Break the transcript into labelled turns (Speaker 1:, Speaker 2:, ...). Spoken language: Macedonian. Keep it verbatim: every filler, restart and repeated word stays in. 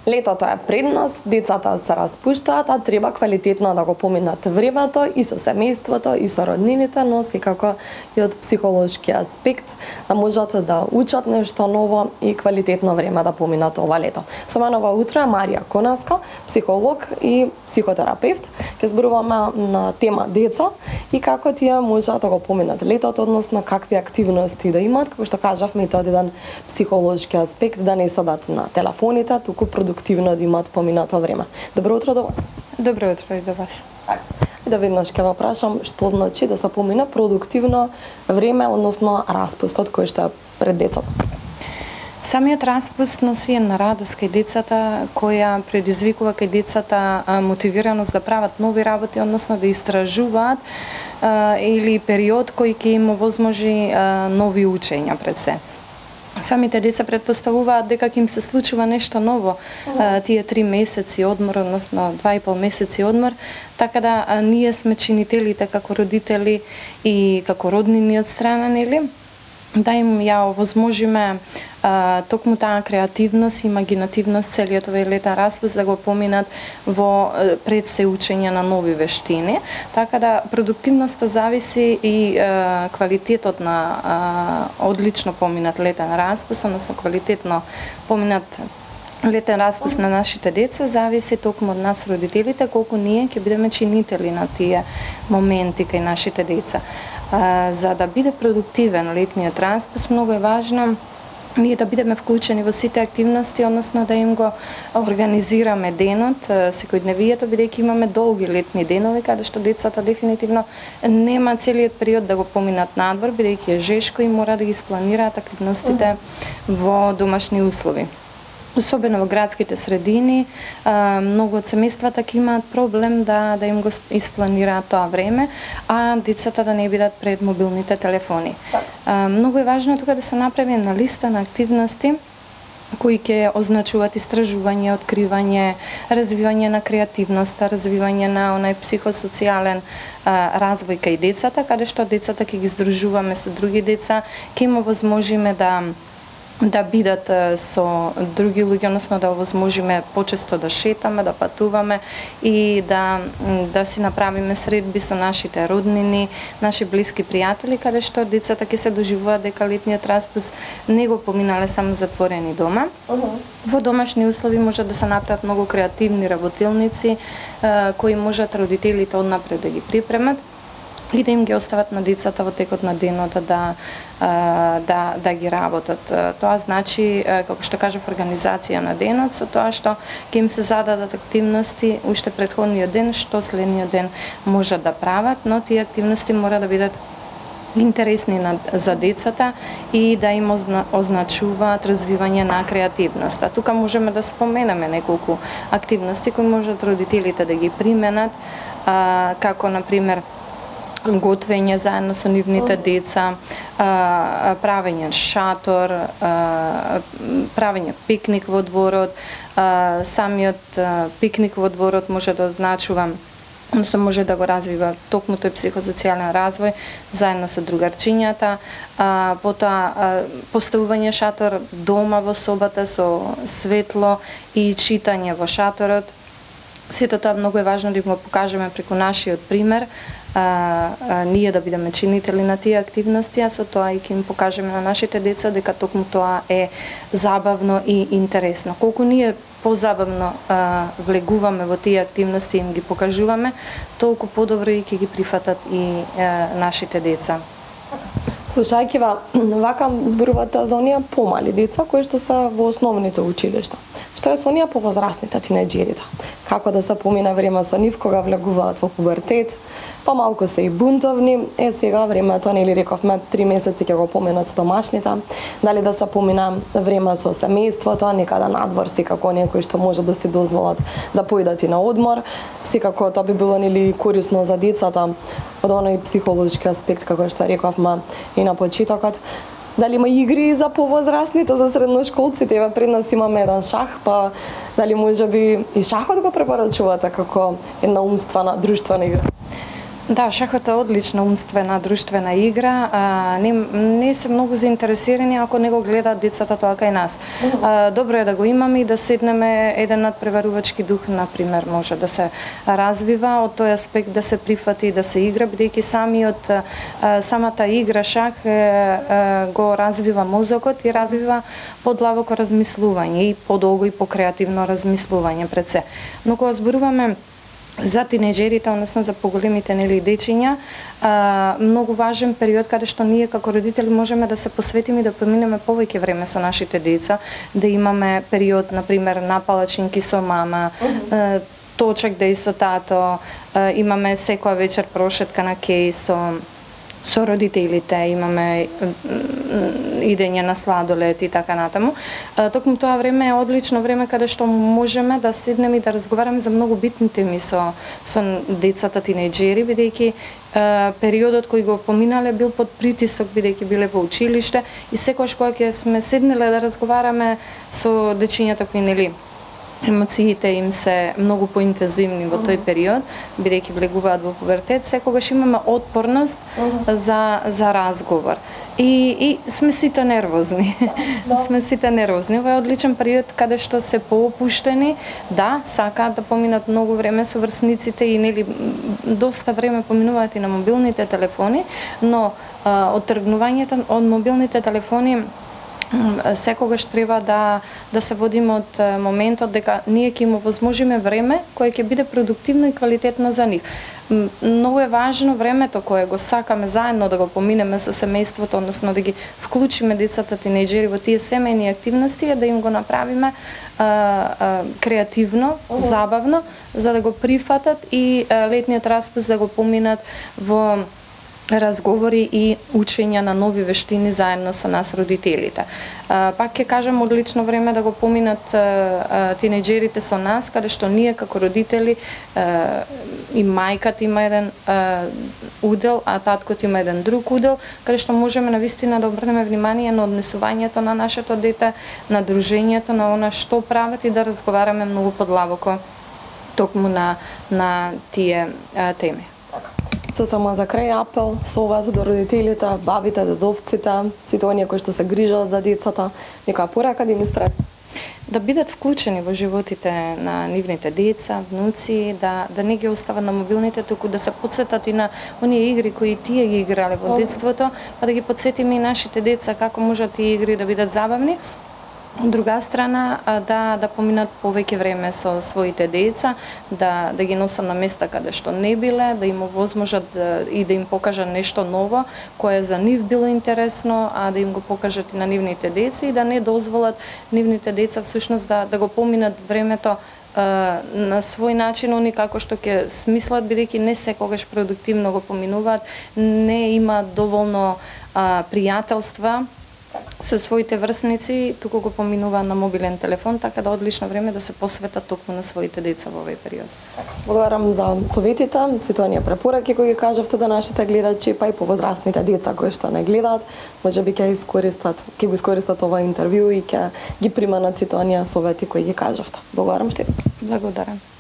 Speaker 1: Летото е пред нас, децата се распуштаат, а треба квалитетно да го поминат времето и со семејството, и со роднините, но секако и од психолошки аспект да можат да учат нешто ново и квалитетно време да поминат ова лето. Со мене ова утро е Марија Конаско, психолог и психотерапевт. Ќе зборуваме на тема деца и како тие можат да го поминат летото, односно какви активности да имаат, како што кажавме, тоа е еден психолошки аспект, да не седат на телефоните, туку продуктивно да имаат поминато време. Добро утро до вас.
Speaker 2: Добро утро и до вас.
Speaker 1: И да веднаш ќе ве прашам што значи да се помине продуктивно време, односно распустот кој што е пред децата.
Speaker 2: Самиот распуст носи една радост кај децата, која предизвикува кај децата мотивираност да прават нови работи, односно да истражуваат а, или период кој ќе им овозможи а, нови учења пред се. Самите деца предпоставуваат дека ќе им се случува нешто ново а, тие три месеци одмор, односно два и пол месеци одмор, така да а, ние сме чинителите како родители и како роднини од страна, нели? Да им ја овозможиме а, токму таа креативност и имагинативност целиот овој летен распуст да го поминат во пред се учење на нови вештини. Така да продуктивноста зависи и а, квалитетот на а, одлично поминат летен распуст, односно квалитетно поминат летен распуст на нашите деца зависи токму од нас родителите, колку ние ќе бидеме чинители на тие моменти кај нашите деца. А, за да биде продуктивен летниот распуст, многу е важно ние да бидеме вклучени во сите активности, односно да им го организираме денот, секојдневието, бидејќи имаме долги летни денови, каде што децата дефинитивно нема целиот период да го поминат надвор, бидејќи е жешко и мора да ги спланираат активностите во домашни услови. Особено во градските средини, многу од семејствата ќе имаат проблем да да им го испланираат тоа време, а децата да не бидат пред мобилните телефони. Многу е важно тука да се направи една листа на активности кои ќе означуваат истражување, откривање, развивање на креативноста, развивање на онај психосоцијален а, развој кај децата, каде што децата ќе ги здружуваме со други деца, ќе им овозможиме да да бидат со други луѓе, односно да овозможиме почесто да шетаме, да патуваме и да да си направиме средби со нашите роднини, наши блиски пријатели, каде што децата ќе се доживуваат дека летниот распуст не го поминале само затворени дома. Uh -huh. Во домашни услови може да се направат многу креативни работилници кои можат родителите однапред да ги припремат и да им ги остават на децата во текот на денот да да да ги работат. Тоа значи, како што кажав, организација на денот со тоа што ќе им се зададат активности уште претходниот ден, што следниот ден можат да прават, но тие активности мора да бидат интересни за децата и да им означуваат развивање на креативноста. Тука можеме да споменеме неколку активности кои можат родителите да ги применат, како на пример готвење заедно со нивните деца, правење шатор, правење пикник во дворот. Самиот пикник во дворот може да означува, односно може да го развива токму тој психосоцијален развој заедно со другарчињата, потоа поставување шатор дома во собата со светло и читање во шаторот. Сето тоа многу е важно да им го покажеме преку нашиот пример, а, а, ние да бидеме чинители на тие активности, а со тоа и ќе им покажеме на нашите деца дека токму тоа е забавно и интересно. Колку ние позабавно а, влегуваме во тие активности и им ги покажуваме, толку подобро и ќе ги прифатат и а, нашите деца.
Speaker 1: Слушајќи ва, вака зборувате за оние помали деца кои што се во основните училишта. Што е со оние повозрасните тинеџерите? Како да се помине време со нив кога влегуваат во пубертет? Помалку се и бунтовни. Е, сега времето, нели рековме, три месеци ќе го поминат со домашните. Дали да се помине време со семејството, некада надвор, секако некои што може да си дозволат да поидат и на одмор. Секако тоа би било нели корисно за децата од оној психолошки аспект, како што рековме и на почетокот. Дали има игри за повозрасните, за средношколците? Еве пред нас имаме еден шах, па дали можеби и шахот го препорачувате како една умствена, друштвена игра?
Speaker 2: Да, шахот е одлична умствена, друштвена игра. А, не, не се многу заинтересирани ако не го гледаат децата тоа кај нас. А, добро е да го имаме и да седнеме еден надпреварувачки дух, например, може да се развива од тој аспект, да се прифати, да се игра, бидејќи самиот а, самата игра шах е, е, го развива мозокот и развива подлабоко размислување и подолго и покреативно размислување пред се. Но кога зборуваме за тинеџерите, односно за поголемите нели дечиња, а, многу важен период каде што ние како родители можеме да се посветиме и да поминеме повеќе време со нашите деца, да имаме период на пример на палачинки со мама, uh-huh. точек деј со тато, имаме секоја вечер прошетка на кеј со со родителите, имаме идење на сладолед и така натаму. Токму тоа време е одлично време каде што можеме да седнеме и да разговараме за многу битни теми со со децата тинеџери, бидејќи периодот кој го поминале бил под притисок, бидејќи биле во училиште и секогаш кога ќе сме седнеле да разговараме со дечињата кои нели емоциите им се многу поинтензивни во тој период, бидејќи влегуваат во пубертет, секогаш имаме отпорност за за разговор. И и сме сите нервозни. сме сите нервозни. Ова е одличен период каде што се поопуштени, да, сакаат да поминат многу време со врсниците и нели доста време поминуваат и на мобилните телефони, но а, оттргнувањето од мобилните телефони секогаш треба да да се водиме од моментот дека ние ќе им овозможиме време кое ќе биде продуктивно и квалитетно за нив. Многу е важно времето кое го сакаме заедно да го поминеме со семејството, односно да ги вклучиме децата тинеџери во тие семејни активности, е да им го направиме а, а, креативно, забавно, за да го прифатат и а, летниот распуст да го поминат во разговори и учење на нови вештини заедно со нас родителите. А, пак ќе кажам, одлично време да го поминат а, а, тинеџерите со нас, каде што ние како родители а, и мајката има еден а, удел, а таткот има еден друг удел, каде што можеме навистина да обрнеме внимание на однесувањето на нашето дете, на дружењето, на она што прават и да разговараме многу подлабоко токму на на тие а, теми.
Speaker 1: Со само за крај апел, совет до родителите, бабите, дедовците, сите оние кои што се грижат за децата, некоја порака да им испред?
Speaker 2: Да бидат вклучени во животите на нивните деца, внуци, да да не ги остават на мобилните, туку да се потсетат и на оние игри кои тие ги играле во детството, па да ги потсетиме и нашите деца како можат тие игри да бидат забавни. Од друга страна, да да поминат повеќе време со своите деца, да да ги носат на места каде што не биле, да им овозможат да, и да им покажат нешто ново кое за нив било интересно, а да им го покажат и на нивните деца и да не дозволат нивните деца всушност да да го поминат времето на свој начин, они како што ќе смислат, бидејќи не секогаш продуктивно го поминуваат, не имаат доволно а, пријателства со своите врсници, туку го поминува на мобилен телефон, така да одлично време да се посветат токму на своите деца во овој период.
Speaker 1: Благодарам за советите, сите оние препораки кои ги кажавте до нашите гледачи, па и повозрастните деца кои што не гледаат, можеби ќе искористат, ќе го искористат ова интервју и ќе ги приманат сите оние совети кои ги кажавте. Благодарам штедно.
Speaker 2: Благодарам.